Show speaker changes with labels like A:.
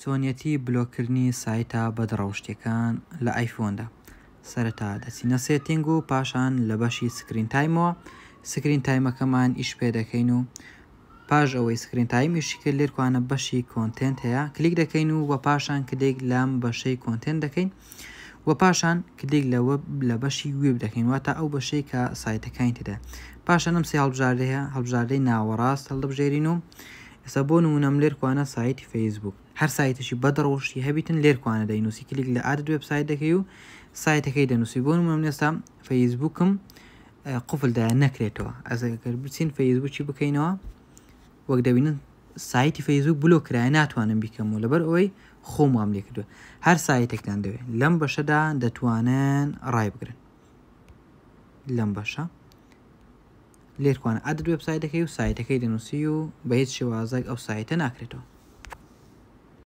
A: چۆنیەتی بلۆککردنی سایتە بەدڕەوشتیەکان لە ئایفۆندا سەرەتا دەچینە setting و پاشان لە بەشی screen time ەوە screen time ەکەمان ئیش پێ دەکەین و پاش ئەوەی screen time ئیشی کرد لێرکوانە بەشی content هەیە کلیک دەکەین و وە پاشان کلیک لەم بەشەی content دەکەین و پاشان کلیک لە وێب لە بەشی وێب دەکەین واتە ئەو بەشەی کە سایتەکانی تێدا پاشان ئەم سێ هەڵبژاردەیە هەڵبژاردەی ناوەڕاست هەڵدەبژێرین و ئێستا بۆ نمونەم لێرکوانە سایتی فەیسبوک هەر سایتێکی بەدڕەوشتی هەبیتن لێرکوانە دەینوسی کلیک لە add website دەکەی و سایتەکەی دەنووسی بۆ نمونە من ئێستا فەیسبوکم قفل دایە نەکرێتەوە ئەگەر بچین فەیسبوکی بکەینەوە وەک دەبینن سایتی فەیسبوک بلۆک کرایە ناتوانم بیکەمەوە لەبەر ئەوەی خۆم وام لێ کردووە هەر سایتێکتان دەوێت لەم بەشەدا دەتوانن ڕای بگرن لەم بەشە لێرکوانە add website دەکەی و سایتەکەی دەنووسی و بە هیچ شێوازێک ئەو سایتە ناکرێتەوە.